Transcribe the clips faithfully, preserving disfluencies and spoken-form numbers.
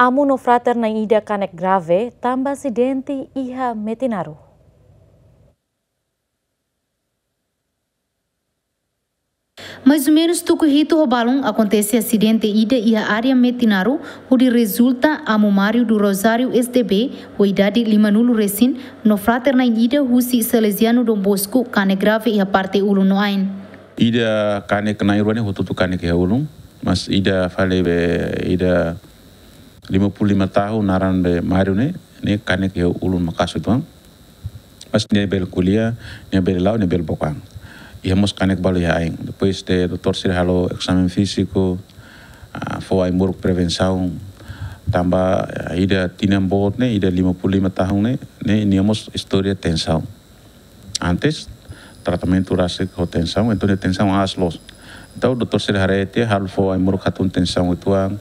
Amu no frater na'in ida kanek grave tanba asidente iha Metinaro. Mais ou menus tuku hitu ho balun akontese asidente ida iha área Metinaro, hodi rezulta amu Mário do Rosário S D B, ho idade lima-nulu resin, no frater na'in ida husi Salesiano Dom Bosco kanek grave iha parte ulun no ain. Ida kanek na'in rua ne'e hotu-hotu kanek iha ulun, mas ida fali be ida lima puluh lima tahun naran be Mário ne'e, ne'e kanek iha ulun maka'as uitoan. Mas nia bele ko'alia, nia bele la'o, nia bele book an. Iha mós kanek balu iha ain. Depois de doutór sira halo exame fíziku, ah, fó ai-moruk prevensaun, tanba, ah, ida tinan boot ne'e, ida lima puluh lima tahun ne'e, ne'e nia mós istória tensaun. Antes, tratamentu rasik ho tensaun, entaun nia tensaun aas loos. Entaun, doutór sira haree tiha, halo fó ai-moruk hatún tensaun uitoan,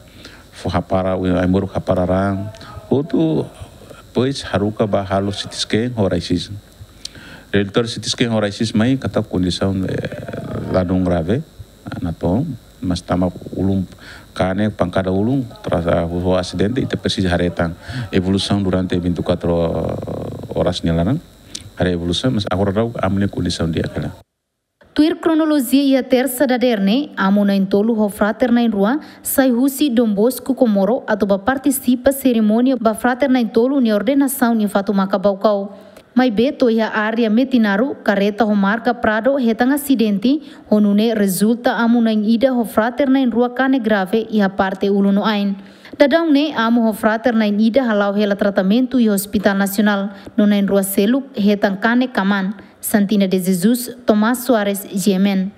fó hapara, ai-moruk hapara raan, hotu, depois haruka ba halo C T scan ho raio-x. Rezultadu C T scan ho raio-x mai, katak kondisaun, eh, ladún grave, natoon, mas tanba ulun kanek, pankada ulun, tras, ah, ho asidente, ita presiza haree tan evolusaun durante vinte e quatro horas nia laran. Haree evolusaun, mas agora daudaun amu nia kondisaun di'ak hela. Tuir kronolojia iha tersa dadeer ne'e, amu na'in-tolu ho frater na'in-rua sai husi Dom Bosco Comoro atu bá partisipa serimónia ba frater na'in-tolu nia ordenasaun iha Fatumaka Baucau. Maibé to'o iha área Metinaro, karreta ho marka Prado hetan asidente, ho nune'e rezulta amu na'in ida ho frater na'in-rua kanek grave iha parte ulun no ain. Daudaun ne'e amu ho frater na'in ida hala'o hela tratamentu iha Hospital Nasionál, no na'in-rua seluk hetan kanek kaman. Santina de Jesus, Tomás Soares, G M N.